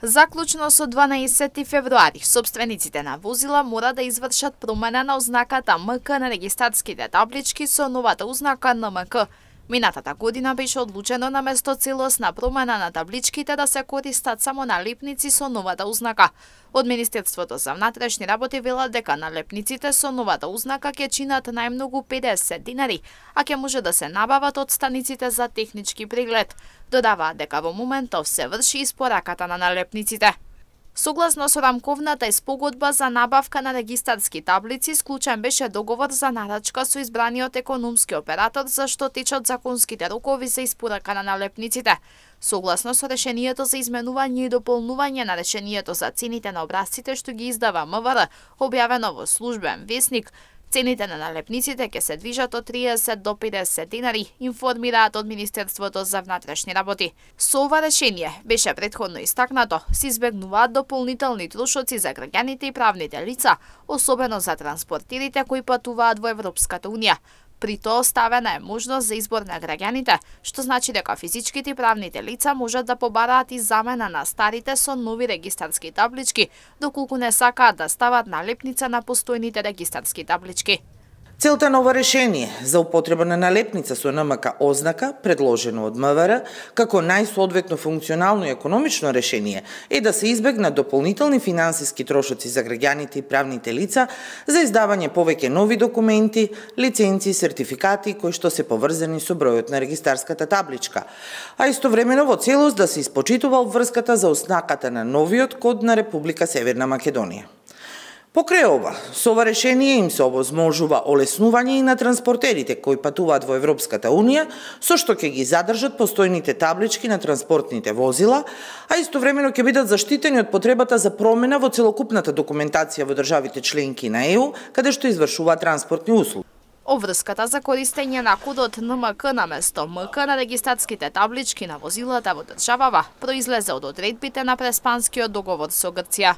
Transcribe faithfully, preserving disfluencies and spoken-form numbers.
Заклучно со дванаесети февруари, сопствениците на возила мора да извршат промена на ознаката М К на регистарските таблички со новата ознака Н М К. Минатата година беше одлучено на место целосна промена на табличките да се користат само налепници со новата ознака. Од Министерството за внатрешни работи велат дека налепниците со новата ознака ќе чинат најмногу педесет динари, а ќе може да се набават од станиците за технички преглед. Додаваат дека во моментов се врши испораката на налепниците. Согласно со рамковната спогодба за набавка на регистарски таблици, склучен беше договор за нарачка со избраниот економски оператор за што течат законските рокови за испорака на налепниците. Согласно со решението за изменување и дополнување на решението за цените на образците што ги издава М В Р, објавено во службен весник, цените на налепниците ќе се движат од триесет до педесет динари, информираат од Министерството за внатрешни работи. Со ова решение беше претходно истакнато, се избегнуваат дополнителни трошоци за граѓаните и правните лица, особено за транспортерите кои патуваат во Европската унија. При тоа оставена е можност за избор на граѓаните, што значи дека физичките и правните лица можат да побараат и замена на старите со нови регистарски таблички, доколку не сакаат да стават налепница на постојните регистарски таблички. Целта на ова решение за употреба на налепница со Н М К ознака, предложено од М В Р, како најсоодветно функционално и економично решение, е да се избегнат дополнителни финансиски трошоци за граѓаните и правните лица за издавање повеќе нови документи, лиценци, сертификати кои што се поврзани со бројот на регистарската табличка, а истовремено во целост да се испочитува обврската за ознаката на новиот код на Република Северна Македонија. Покрај ова, со ова решение им се овозможува олеснување и на транспортерите кои патуваат во Европската унија, со што ќе ги задржат постојните таблички на транспортните возила, а истовремено ќе бидат заштитени од потребата за промена во целокупната документација во државите членки на Е У, каде што извршуваат транспортни услуги. Обврската за користење на кодот Н М К на место М К на регистарските таблички на возилата во државава произлезе од одредбите на Преспанскиот договор со Грција.